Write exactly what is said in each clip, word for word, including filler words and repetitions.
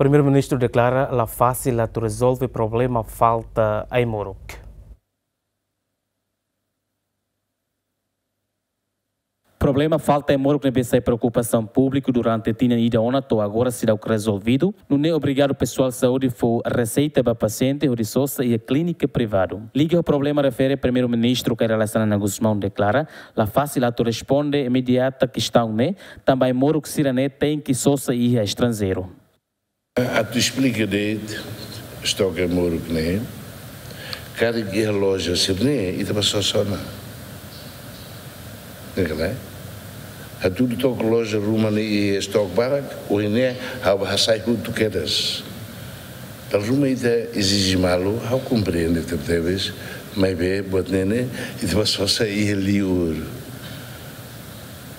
Primeiru-Ministru deklara la fasil atu rezolve problema falta ai-moruk. Problema falta ai-moruk ne'ebé sai preokupasaun públiku durante tinan ida ona to'o agora seidauk rezolvidu, nune'e obriga pesoál saúde fó reseita ba pasiente hodi sosa iha klínika privadu. Liga ho problema refere, Primeiru-Ministru Kay Rala Xanana Gusmão deklara la fasil atu responde imediata kestaun ne'e, tanba ai-moruk sira-ne'e tenke sosa iha estranjeiru. Atu esplika de'it, estoke ai-moruk ne'e, karik iha loja sira-ne'e, ita bá sosa ona. Ne'e ka lae? Hatudu tok loja ruma ne'e iha estoke barak, ohin ne'e ha'u bá hasai hotu kedas. Dala ruma ita ezije malu, ha'u komprende tebetebes, maibé buat ne'e ne'e, ita bá sosa iha liur.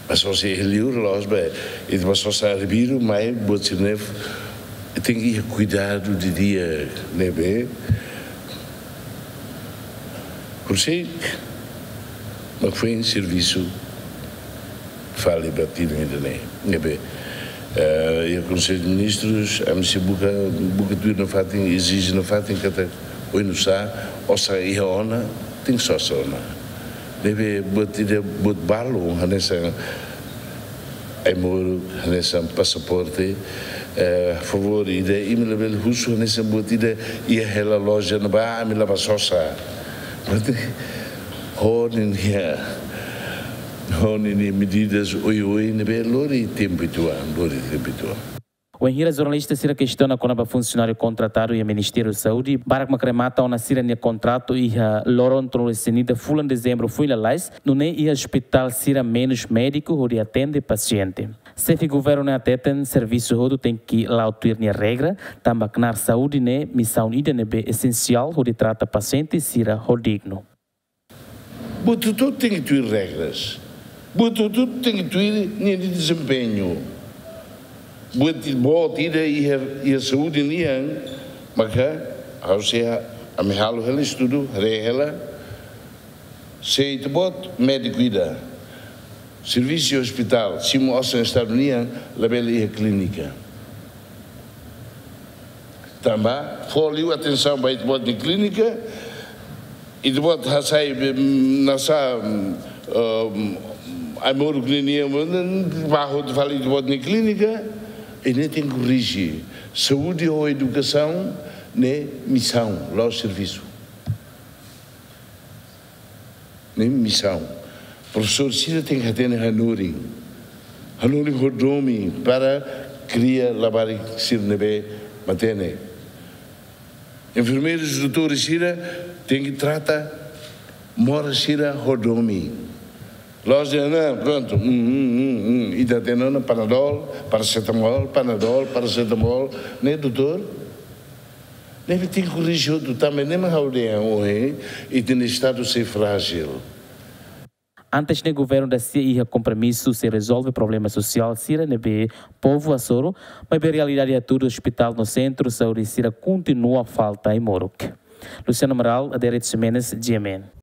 Bá sosa iha liur la'ós ba, ita bá sosa arbiru, mai buat sira-ne'e, tenke iha kuidadu didi'ak, ne'ebé. Por sei, mak foin servisu fali ba tinan ida-ne'e, ne'ebé. Eh, iha Konsellu de Ministrus, ami sei buka, buka tuir nafatin, ezije nafatin katak oinsá, osan iha ona, tenke sosa ona. Ne'ebé buat ida, buat balu, hanesan ai-moruk, hanesan pasaporte, eh, favór ida, imi labele husu hanesan buat ida iha hela loja ne'ebá, ami la bá sosa. Buat ho ninia, ho ninia medidas oioin ne'ebé lori tempu uitoan, lori tempu uitoan. Wainhira jornalista sira kestiona kona-ba funsionáriu kontratadu iha Ministériu Saúde, barak mak remata ona sira-nia kontratu iha loron tolu-resin-ida fulan Dezembru foin lalais, nune'e iha ospitál sira menus médiku hodi atende pasiente. Xefe Governu ne'e hateten servisu hotu tenke la'o tuir nia regra, tanba knaar saúde ne'e misaun ida ne'ebé esensiál hodi trata pasiente sira ho dignu. Buat hotu-hotu tenke tuir regras. Buat hotu-hotu tenke tuir ninia dezempeñu. Buat i-, buat ida iha, iha saúde nian, maka ha'u sei, ami halo hela estudu, haree hela, se ita-boot médiku ida servisu iha ospitál, simu osan Estadu nian, labele iha klínika. Tanba fó liu atensaun ba ita-boot nia klínika, ita-boot hasai be, mm, nasa, mm, um, ai-moruk ninia, mm, bá hotu fali ita-boot nia klínika, i ne'e tenke korrije. Saúde ho edukasaun ne'e misaun, la'ós servisu. Ne'e misaun. Profesór sira tenke hatene hanorin. Hanorin ho domin para kria labarik sira ne'ebé matenek. Enfermeirus, doutores sira tenke trata moras sira ho domin. La'ós dehan, ah, prontu, hum, hum, hum, hum. Ita hatene ona Panadol, paracetamol, Panadol, paracetamol. Ne'e, doutór? Ne'ebé tenke korrije hotu tanba ne'e mak ha'u dehan ohin, ita-nia Estadu sei frájil. Antes ne'e governu da-sia iha kompromisu sei rezolve problema sosiál sira ne'ebé povu hasoru, maibé realidade hatudu ospitál no sentru saúde sira kontinua falta ai-moruk. Luciano Amaral, Adérito Ximenes, G M N.